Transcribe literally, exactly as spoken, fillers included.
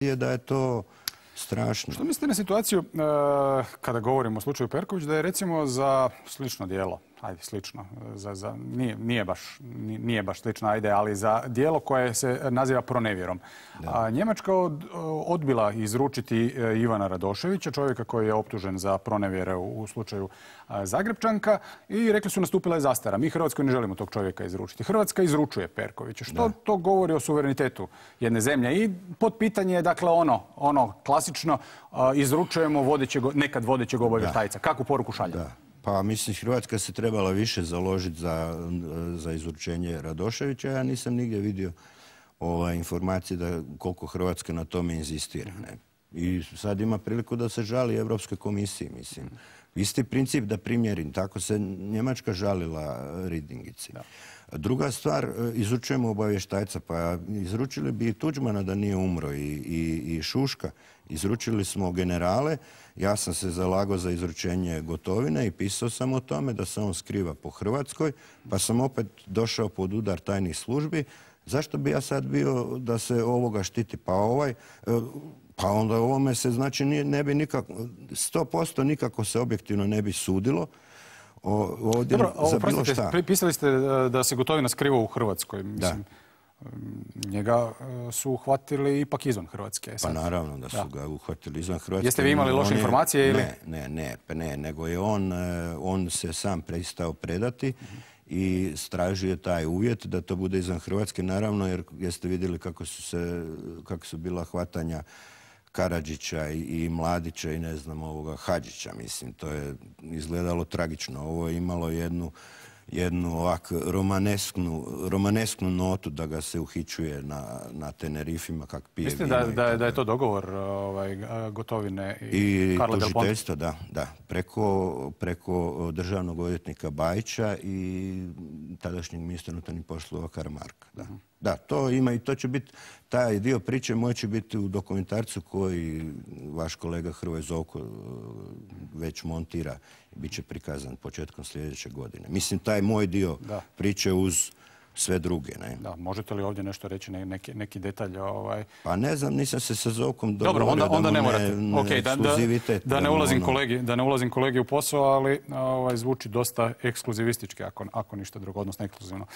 je da je to strašno. Što mislite na situaciju uh, kada govorimo o slučaju Perković, da je recimo za slično djelo, ajde slično, za, za, nije, nije, baš, nije baš slično, ajde, ali za djelo koje se naziva pronevjerom. A Njemačka od, odbila izručiti Ivana Radoševića, čovjeka koji je optužen za pronevjere u, u slučaju Zagrepčanka, i rekli su nastupila je zastara. Mi Hrvatskoj ne želimo tog čovjeka izručiti. Hrvatska izručuje Perkovića. Što da. to govori o suverenitetu jedne zemlje? I pod pitanje je dakle ono, ono klasično, uh, izručujemo vodećeg, nekad vodećeg obavještajca. Kakvu poruku šaljemo? Da. Pa mislim, Hrvatska se trebala više založiti za, za izručenje Radoševića. Ja nisam nigdje vidio ovaj, informacije da koliko Hrvatska na tome inzistira. Ne? I sad ima priliku da se žali Europskoj komisiji, mislim. Isti princip da primjerim. Tako se Njemačka žalila Ridingici. Da. Druga stvar, izručujemo obavještajca. Pa izručili bi i Tuđmana da nije umro i, i, i Šuška. Izručili smo generale. Ja sam se zalagao za izručenje Gotovine i pisao sam o tome da se on skriva po Hrvatskoj, pa sam opet došao pod udar tajnih službi. Zašto bi ja sad bio da se ovoga štiti? Pa ovaj... Pa onda ovome se znači ne bi nikako, sto posto nikako se objektivno ne bi sudilo. O, ovdje Dobro, za bilo šta. Pisali ste da se Gotovina skriva u Hrvatskoj. Mislim, da. Njega su uhvatili ipak izvan Hrvatske. Pa naravno da su da. ga uhvatili izvan Hrvatske. Jeste vi imali loše je, informacije ili? Ne, ne, ne, ne, nego je on, on se sam pristao predati. Uh-huh. I stražio je taj uvjet da to bude izvan Hrvatske, naravno, jer jeste vidjeli kako su, se, kako su bila hvatanja Karadžića i, i Mladića i ne znam ovoga Hadžića, mislim, to je izgledalo tragično. Ovo je imalo jednu, jednu ovak romanesknu, romanesknu notu da ga se uhićuje na, na Tenerifima kak pije. Mislite da, da, da je to dogovor ovaj, Gotovine i, i Karla Del Ponte? I tužiteljstva, da, da. Preko, preko državnog odvjetnika Bajića i tadašnjeg ministra unutarnjih poslova Karamarka. Da. Uh-huh. Da, to ima i to će biti, taj dio priče moj će biti u dokumentarcu koji vaš kolega Hrvoje Zovko već montira i bit će prikazan početkom sljedeće godine. Mislim, taj moj dio da. priče uz sve druge. Ne? Da, možete li ovdje nešto reći, neki, neki detalj? Ovaj... Pa ne znam, nisam se sa Zovkom dogovorio. Dobro, onda, onda da ne morate. Ne, ne okay, da, da, da, ne ulazim ono... kolegi, da ne ulazim kolegi u posao, ali ovaj, zvuči dosta ekskluzivistički, ako, ako ništa drugo, odnosno ekskluzivno.